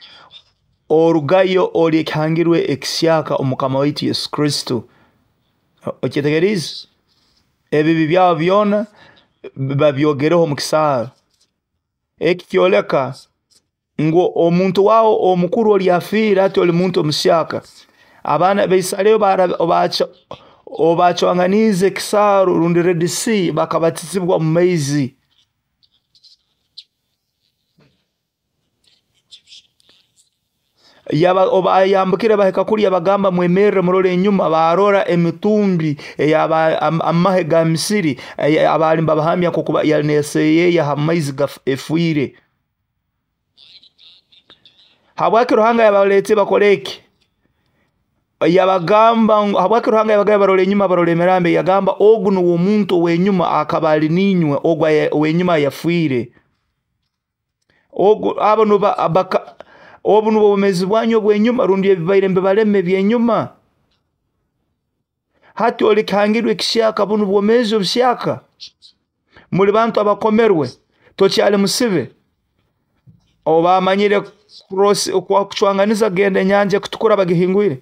Speaker 1: orugayo ori ekihangirwe ekisyaka omukama waitu Yesu Kristo. Okyetegerize? Ebibi byawe byona babyogereho omu kisaaru. Eki kyoleka ngu omuntu wawe omukuru oli afiire, hati oli muntu omusyaka. Abaana baisareri obacwanganize ekisaaru rundi Red Sea bakabatizibwa mu maizi. Obayambukire bahika kulya bagamba mwemerre murole enyuma, barora emitumbi amahe ga Misiri abali babahamya nkokuba yali neseyeya ha maizi efwire. Habwaki Ruhanga yabalete bakole eki? Yabagamba habwaki Ruhanga yabagamba barole enyuma, barole emirambo? Yagamba ogu nuwe omuntu ow'enyuma akaba ali ninywe, ogu ow'enyuma yafiire. Ogu abo nuba baka obu nubwo obwomeezi bwanyu obw'enyuma rundi ebibaire mbibalema eby'enyuma. Hati oli kihangirwe ekisyaka, bunu bwomeezi obusyaka. Muli bantu abakomerwe, tokyali musibe. Obamanyire kucwanganiza kugenda enyanja ekutukura bagihingwire.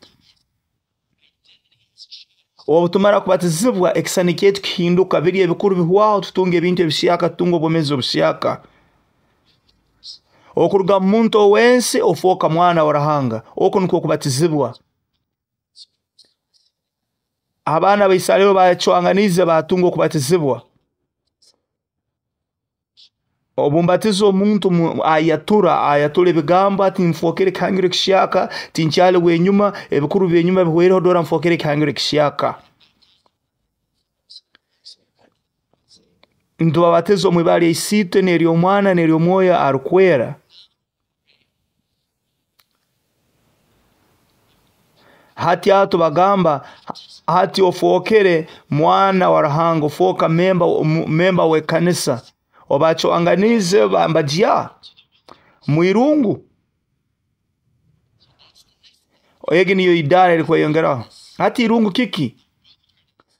Speaker 1: Obutumara kubatizibwa ekisani kyaitu kihinduka, biri ebikuru bihwaho, tutunga ebintu ebisyaka, tutunga obwomeezi obusyaka. Okuruga mu muntu owensi ofooka mwana wa Ruhanga. Oku nikwo kubatizibwa. Abaana ba Isareri bacwanganize batunga okubatizibwa. Obumbatiza omuntu ayatura ebigambo ati nfokere ekihangiro ekisyaka, tinkyali wenyuma, ebikuru byenyuma bihweireho, dora nfokere ekihangiro ekisyaka. Ntubabatiza omu ibara lya Isiitwe n'ery'Omwana n'ery'Omwoyo Arukwera. Hati aho tubagamba, hati ofookere mwana wa Ruhanga, ofooka memba w'ekanisa. Obacwanganize mbagya mwirungu. Egi niyo idara erikweyongeraho. Hati irungu kiki?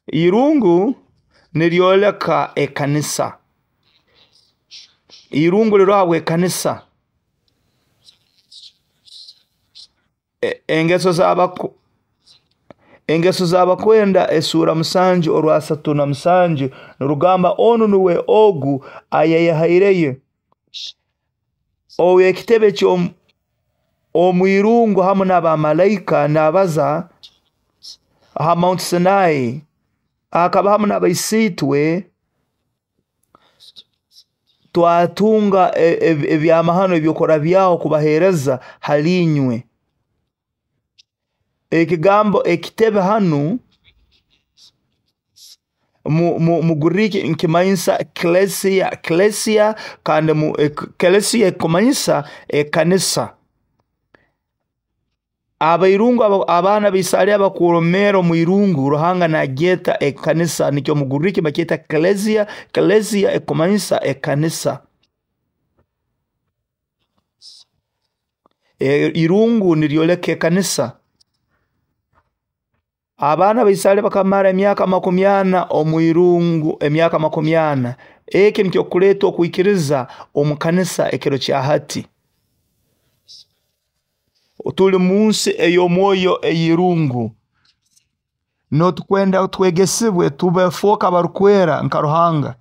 Speaker 1: Irungu niryoleka ekanisa. Irungu liroho habw'ekanisa. Engeso z'abakwenda esura 7 orwa 37 nirugamba onu nuwe ogu ayayehaireyo ow'ekitebe ky'omwirungu hamu n'abamalaika nabaza ha Mount Sinai, akaba hamu n'abaisitwe, twatunga ebyamahano ebyokurabyaho kubahereza hali inywe. Ekigambo ekitebe hanu mu Greek nkimanyisa klesia, klesia, kandi mu klesia ekumanyisa ekanisa. Abairungu abaana b'Isareri abakuromera omu irungu, Ruhanga nagyeta ekanisa, nikyo mu Greek bakyeta klesia, klesia ekumanyisa ekanisa. Irungu niryoleka ekanisa. Abaana b'Isareri bakamara emyaka 40 omu irungu, emyaka 40. Eki nikyo kuleeta okwikiriza omu kanisa ekiro kya hati. Tuli munsi ey'omwoyo ey'irungu. Notukwenda twegesibwe tubefoka abarukwera nka Ruhanga.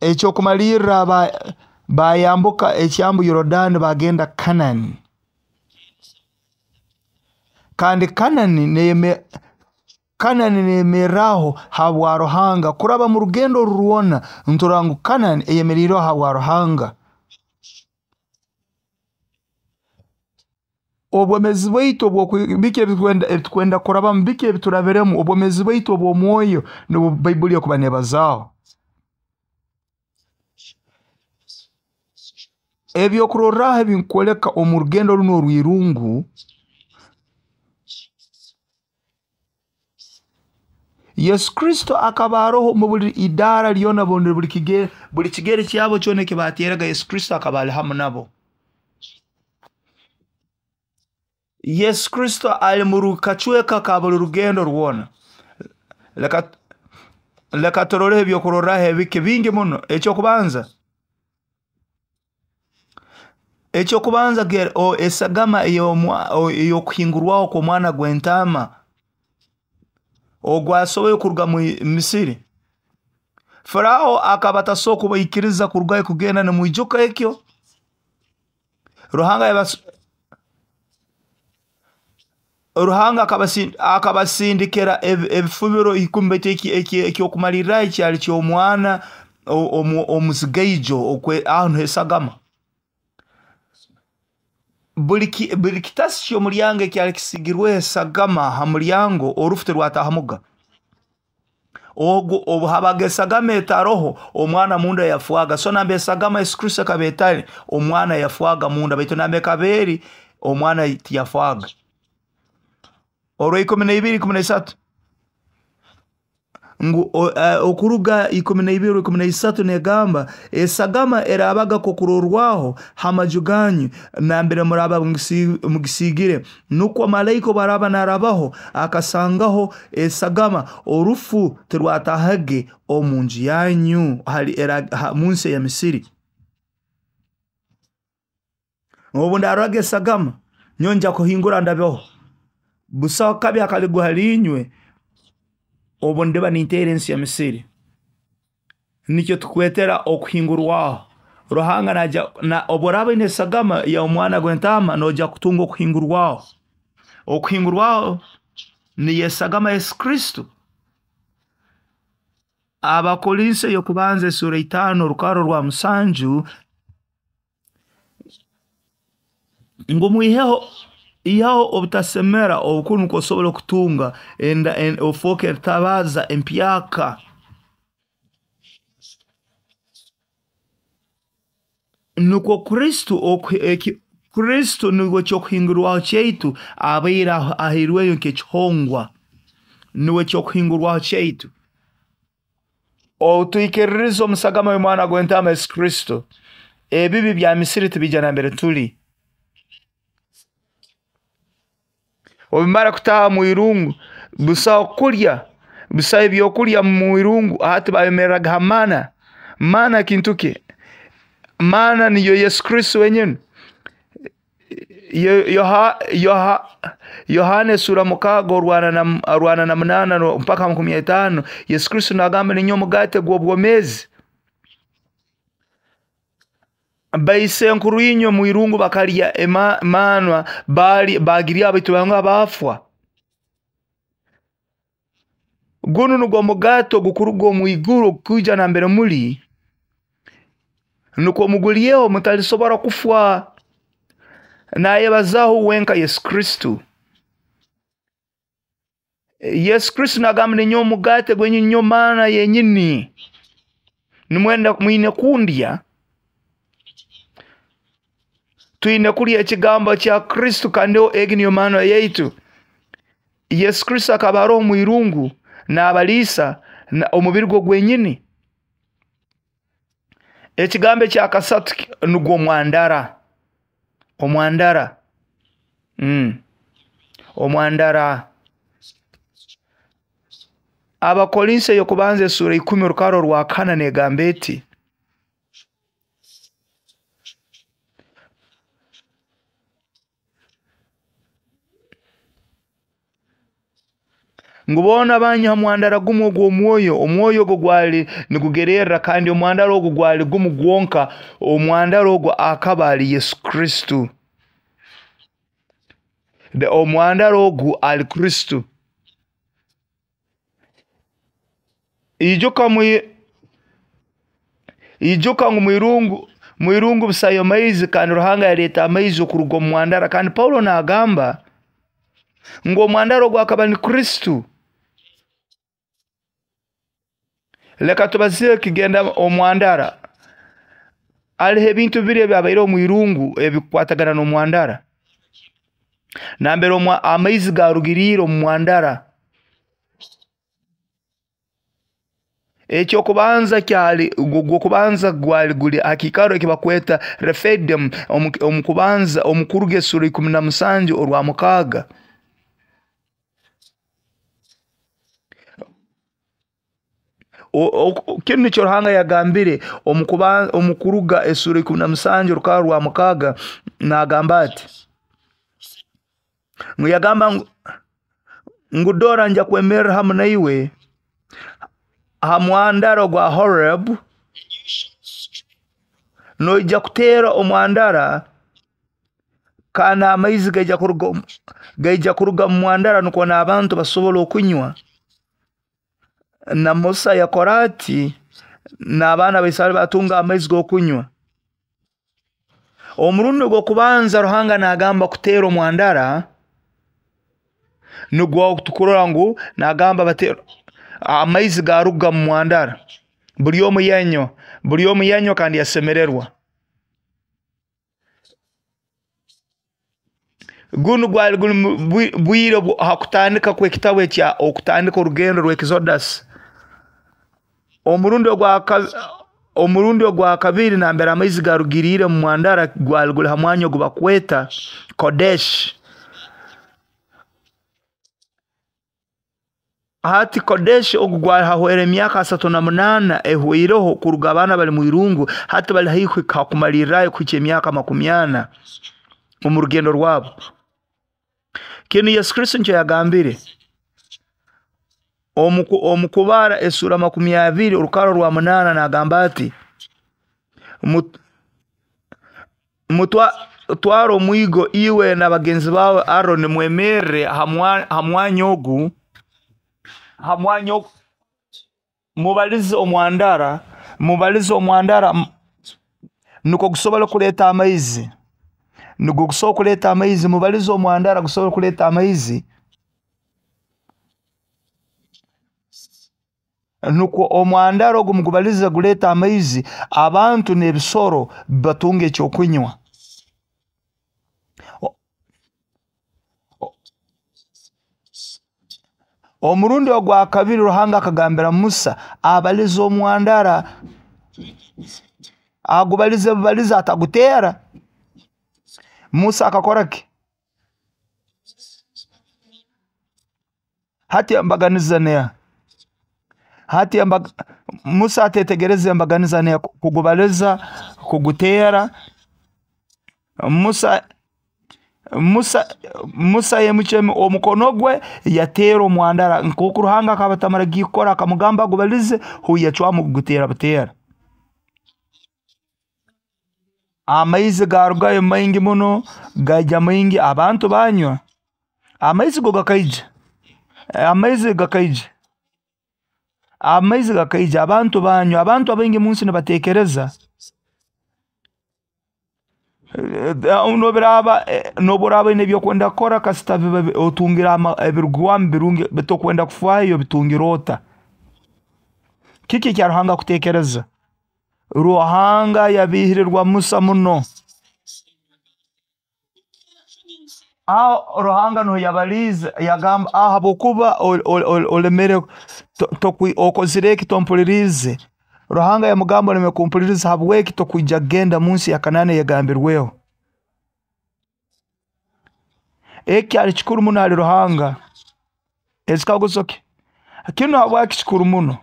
Speaker 1: Ekyokumalirra bayambuka ekyambu Yorodani bagenda Kanani. Kandi Kanani neyemerraho habwa Ruhanga. Kuraba mu rugendo oru rwona nturora ngu Kanani eyemeriireho habwa Ruhanga. Obwomezi bwaitu biki ebitukwenda kurabamu, biki ebiturabiremu, obwomezi bwaitu obw'omwoyo nubwo Baibuli ekuba nebazaaho. Ebyokurorraho ebinkwoleka omu rugendo runu orw'irungu, Yesu Kristo akaba aroho mu buli idaara lyona, buli kigere kyabo kyona eki bateeraga, Yesu Kristo akaba ali hamu nabo. Yesu Kristo ali mu kacweka ka buli rugendo rwona. Leka turoleho ebyokurorraho ebike bingi muno. Ekyokubanza, esagama ey'okuhingurwaho kw'omwana gw'entaama ogwasoboire kuruga mu Misiri. Faraho akaba atasobora kubaikiriza kurugayo kugenda, nimwijuka ekyo? Ruhanga akabasindikira ebifubiro 10, baitu ekyokumalirraho kyali ky'omwana omuzigaijo aho niho esagama. Buli kitasi ky'omulyango ekyali kisigirweho esagama ha mulyango, orufu terwatahamuga. Obu habaga esagama etaroho, omwana munda yafwaga. So namba esagama Yesu Kristo ekaba etali, omwana yafwaga munda, baitu namba ekaba eri, omwana tiyafwaga. Orwa 12 13 ngu okuruga 12 13 negamba esagama erabaga kokurorwaho ha maju ganyu nambere muraba mugisigire, nukwo malaika obu narabaho akasangaho esagama, orufu terwatahage omu nju yanyu munsi ya Misiri. Obu ndaroraga esagama nyowe nja kuhingura ndabeho, busaho kabi akaligwa hali inywe obu ndiba ninteera ensi ya Misiri. Nikyo tukwetera okuhingurwaho. Ruhanga naija obu oraaba oine esagama y'omwana gw'entaama, noija kutunga okuhingurwaho. Okuhingurwaho niyo esagama Yesu Kristo. Abakorinso y'okubanza esura 5 orukaro rwa 7 ngu mwiheho ihaho obutasemera obukuru nukwo osobole kutunga ofooke etabaza empyaka. Nukwo Kristo Kristo niwe ky'okuhingurwaho kyaitu, abaire ahairweyo nk'ekihongwa, niwe ky'okuhingurwaho kyaitu. Otwikiririza omu sagama y'omwana gw'entaama Yesu Kristo, ebibi bya Misiri tibijja nambere tuli. Obimara kutaha mu irungu, busaho kulya, busaho ebyokulya mu irungu. Hati bayemerraga ha mana. Mana kintu ki? Mana niyo Yesu Kristo wenyini. Yohana esura 6 48 mpaka 50, Yesu Kristo nagamba ninyowe omugate gw'obwomezi. Baisenkuru inywe mu irungu bakalya emanwa, bagirya baitu banga bafwa. Gunu nugwo mugate ogukuruga omu iguru ogukwija nambere muli, nukwo mugulyeho mutalisobora kufwa. Nayebazaho wenka Yesu Kristo. Yesu Kristo nagamba ninyowe omugate gwenyini, ninyowe mana yenyini. Nimwenda mwine kundya. Twine kulya ekigambo kya Kristo, kandi egi niyo mana yaitu. Yesu Kristo akaba aroho mu irungu n'abaliisa omubiri gwe gwenyini. Ekigambo ekya kasatu nugwo omwandara. Omwandara. Omwandara. Abakorinso y'okubanza esura 10 orukaro rwa 4 negamba eti: ngu boona banywa ha mwandara gumu ogw'omwoyo, omwoyo ogwo gwali nigugererra, kandi omwandara ogwo gwali gumu gwonka. Omwandara ogwo akaba ali Yesu Kristo. Omwandara ogu ali Kristo. Ijuka ngu mwirungu busayo maizi, kandi Ruhanga yaleeta amaizi okuruga omu mwandara. Kandi Paulo nagamba ngu omwandara ogwo akaba ni Kristo. Leka tubazeeho kigenda omwandara. Hariho ebintu bibiri ebyabaireho omu irungu ebikukwatagana n'omwandara. Nambere amaizi garugiriire omu mwandara. Ekyokubanza kyali gwokubanza gwali guli hakikaro ekibakweta Refidim omukubanza omukuruga esura 17 orwa 6. Kinu nikyo Ruhanga yagambire omukuruga esura 17 orukaro rwa 6, nagamba ati, ngu yagamba ngu dora nja kwemerera hamu naiwe ha mwandara gwa Horeb, noija kutera omwandara, kandi amaizi gaija kuruga mu mwandara, nukwo n'abantu basobole okunywa. Na Musa yakora ati, n'abaana ba Isareri batunga amaizi g'okunywa. Omurundi ogw'okubanza Ruhanga nagamba kutera omwandara, nugwo tukurora ngu nagamba batera amaizi garuga mu mwandara, buli omu yanywa, buli omu yanywa kandi yasemererwa. Gunu gwali guli bwire ha kutandika kw'ekitabu ekya okutandika orugendo rw'Exodus. Omurundi ogwa kabiri nambere amaizi garugiriire mu mwandara gwali guli ha mwanya ogu bakweta Kodesh. Hati Kodesh ogu gwali hahwera emyaka 38 ehweireho kuruga abaana bali mu irungu, hati bali haihi hakumalirrayo kuhikya emyaka 40 omu rugendo rwabo. Kinu Yesu Kristo nikyo yagambire omukubara esura 20 orukaro rwa 8, nagamba ati, twara omwigo iwe na bagenzi bawe Aroni, mwemerre ha mwanya ogu, mubalize omwandara, mubalize omwandara nukwo gusobole kuleta amaizi, nugwo gusobole kuleta amaizi, mubalize omwandara gusobole kuleta amaizi. Nukwo omwandara ogu mugubalize guleeta amaizi, abantu n'ebisoro batunga ekyokunywa. Omurundi ogwa kabiri Ruhanga akagambira Musa abalize omwandara, agubalize bubalize, ataguteera. Musa akakora ki? Hati embaganiza neha? Hati Musa atetegereze embaganiza neha? Kugubaliza, kuguteera. Musa yemukye omukono gwe yateera omwandara, nk'oku Ruhanga akaba atamaragiire kukora, akamugamba agubalize, huwe yacwamu kuguteera buteera. Amaizi garugayo maingi muno, gaija maingi, abantu banywa. Amaizi go gakaija. Amaizi gakaija. Amaizi gakaija, abantu banywa. Abantu abaingi munsi nibatekereza noburaaba oine ebyokwenda kukora, kasita biba otungire ebirugwamu birungi, tokwenda kufaayo bitungire ota. Kiki ekya Ruhanga kutekereza? Ruhanga yabihirirwa Musa muno. Aho Ruhanga nuho yabaliize, yagamba, ahabwokuba olemere, okozire eki tompuliriize. Ruhanga yamugamba oleme kumpuliriza, habweki tokwija kugenda munsi ya Kanaani eyagambirweho. Eki kyali kikuru muno hali Ruhanga. Ekikaguzo ki? Kinu habwaki kikuru muno?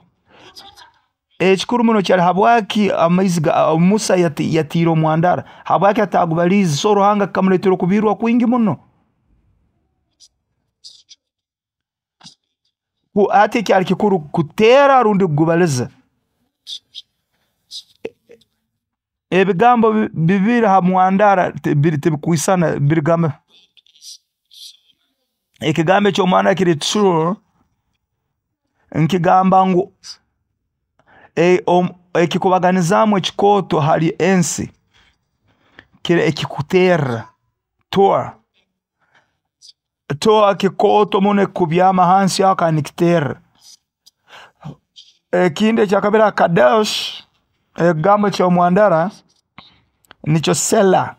Speaker 1: Ekikuru muno kyali habwaki amaizi ga Musa yatiire omwandara, habwaki atagubaliize? So Ruhanga kikamuleetera okubiirwa kwingi muno. Hati ekyali kikuru kuteera rundi kugubaliza? Ebigambo bibiri ha mwandara tibikwisana, birigamba. Ekigambo eky'omwandara kiri true, nkigamba ngu ekikubaganizaamu ekikooto hali ensi kiri ekikuterra toa. Toa kikooto muno ekubyama hansi aho kandi nikiterra. Ekindi ekyakabiri Kadesh, ekigambo eky'omwandara nikyo Sela.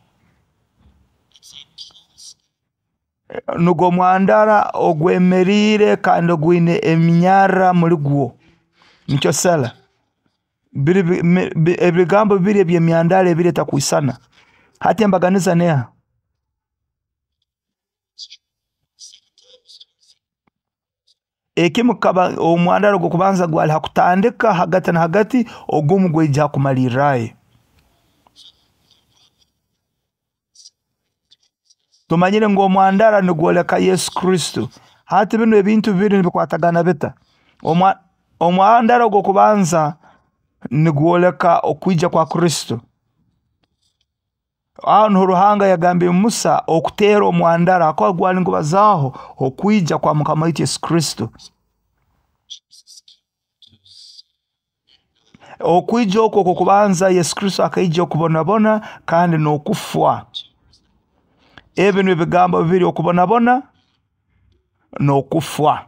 Speaker 1: Nugwo mwandara ogwemeriire kandi ogwine eminyarra muli gwo, nikyo Sela. Ebigambo bibiri eby'emyandara ebiri etakwisana. Hati embaganiza neha? Ekimu kikaba omwandara ogw'okubanza gwali ha kutandika hagati na hagati, ogumu gwaija ha kumalirrayo. Tumanyire ngu omwandara nigwoleka Yesu Kristo. Hati binu ebintu bibiri nibikwatagana bita? Omwandara ogw'okubanza nigwoleka okwija kwa Kristo. Aho niho Ruhanga yagambire Musa okuteera omwandara, akaba gwali nigubazaaho okwija kwa Mukama waitu Yesu Kristo. Okwija okwo okw'okubanza Yesu Kristo akaija okubonabona kandi n'okufwa. Ebi nibyo bigambo bibiri, okubonabona n'okufwa.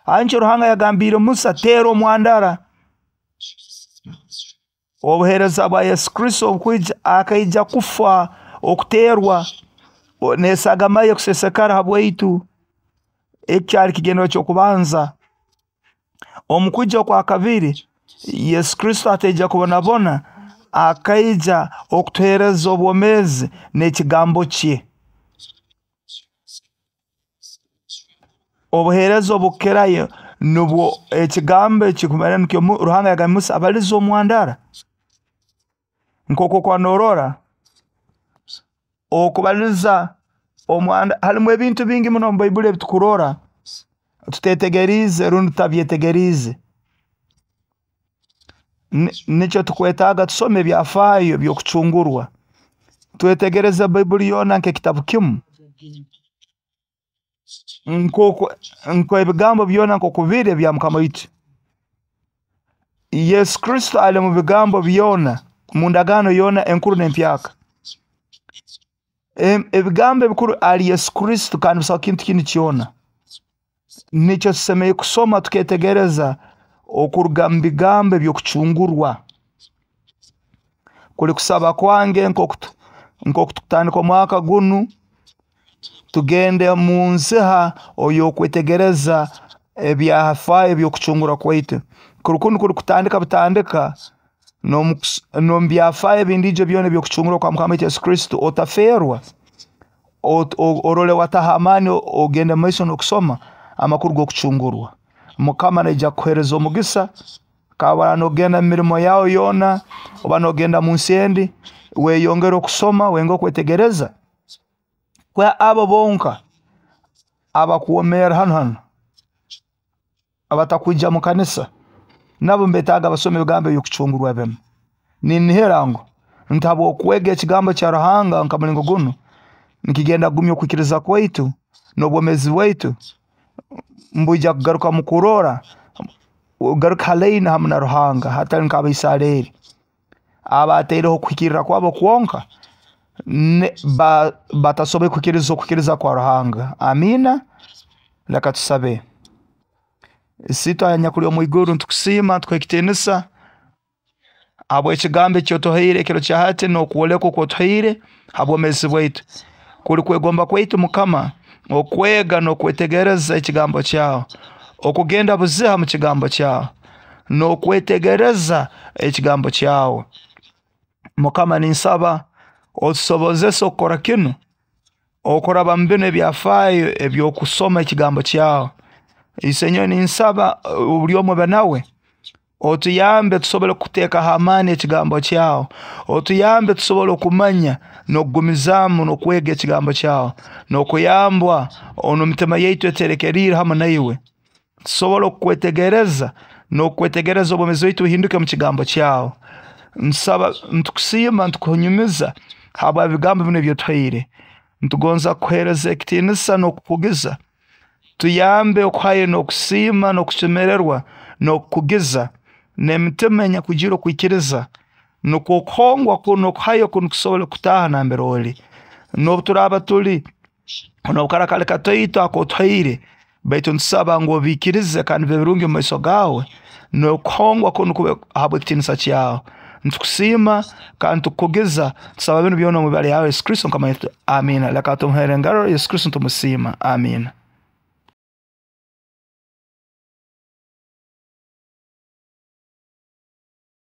Speaker 1: Ankyo Ruhanga yagambiire Musa, teera omwandara. Obuheereza bwa Yesu Kristo obukwija, akaija kufa, okuteerwa, n'esagama ye kusesekara habwaitu. Eki kyali kigendererwa ky'okubanza. Omu kwija okwa kabiri, Yesu Kristo ataija kubonabona, akaija okutuheereza obwomeezi n'ekigambo kye. Obuheereza obukukirayo nubwo ekigambo ekikumara nikyo Ruhanga yagambire Musa abalize omwandara. Nk'oku okuba norora, okubaliza omwanda, harimu ebintu bingi muno omu Baibuli ebitukurora tutetegeriize rundi tutabyetegeriize. Nikyo tukwetaaga tusome ebyafaayo by'okucungurwa. Twetegereze Baibuli yoona nk'ekitabu kimu. Nk'ebigambo byona nk'oku biri ebya Mukama waitu. Yesu Kristo ali mu bigambo byona, mu ndagaano yoona enkuru n'empyaka. Ebigambo ebikuru ali Yesu Kristo kandi busaho kintu kindi kyona. Nikyo tusemeriire kusoma tuketegereza okuruga mu bigambo eby'okucungurwa. Kuli kusaba kwange nk'oku tukutandika omwaka gunu, tugende mu nziha oy'okwetegereza ebyafaayo eby'okucungurwa kwaitu. Kunu kuli kutandika butandika n'omu byafaayo ebindiijo byona eby'okucungurwa kwa Mukama waitu Yesu Kristo. Otaferwa, orole wataho amaani, ogende mumaiso n'okusoma amakuru g'okucungurwa. Mukama naija kukuhereza omugisa. Kaba nogenda mu mirimo yawe yoona, oba nogenda mu nsi endi, weyongere okusoma, weyongere okwetegereza. Kwa abo bonka abakwomeera hanu abatakwija mu kanisa, nabo nibetaaga basome ebigambo eby'okucungurwa binu. Ninihira ngu nti habw'okwega ekigambo kya Ruhanga nka mulingo gunu, nikigenda kugumya okwikiriza kwaitu n'obwomeezi bwaitu mbwija kugaruka mu kurora, ogaruke ha line hamu na Ruhanga, hatali nk'Abaisareri abataireho okuhikirra kwabo kwonka, batasobole kuhikiriza okwikiriza kwa Ruhanga. Amiina. Leka tusabe. Isiitwe anyakuli omu iguru, nitukusiima, nitukuha ekitiinisa habw'ekigambo eki otuhaire ekiro kya hati n'okwolekwa oku otuhaire ha bwomeezi bwaitu. Kuli kwegomba kwaitu Mukama okwega n'okwetegereza ekigambo kyawe, okugenda buziha mu kigambo kyawe, n'okwetegereza ekigambo kyawe. Mukama, ninsaba otusobozese okukora kinu, okuraba mu binu ebyafaayo eby'okusoma ekigambo kyawe. Isenyowe, ninsaba buli omu obe nawe, otuyambe tusobole kuteekaho amaani ekigambo kyawe, otuyambe tusobole okumanya n'okugumizaamu n'okwega ekigambo kyawe, n'okuyambwa onu emitima yaitu eterekeriire hamu naiwe, tusobole okukwetegereza n'okwetegereza obwomeezi bwaitu buhinduke mu kigambo kyawe. Nsaba, nitukusiima, nitukunyumiza habwa bigambo binu ebyotuhaire. Nitugonza kukuhereza ekitiinisa n'okukugiza. Tuyambe okuhayo n'okusiima n'okusemererwa n'okukugiza n'emitima enyakwijwire okwikiriza, nukwo okuhongwa kunu, okuhayo kunu kusobole kutaaha nambere oli. N'obu turaaba tuli n'obukara kali kataito akotuhaire, baitu nitusaba ngu obiikirize kandi bibe birungi omu maiso gaawe, n'okuhongwa kunu kube habw'ekitiinisa kyawe. Nitukusiima kandi tukukugiza, tusaba binu byona omu ibara lyawe Yesu Kristo Mukama waitu. Amiina. Leka tumuhere engaro Yesu Kristo nitumusiima. Amiina.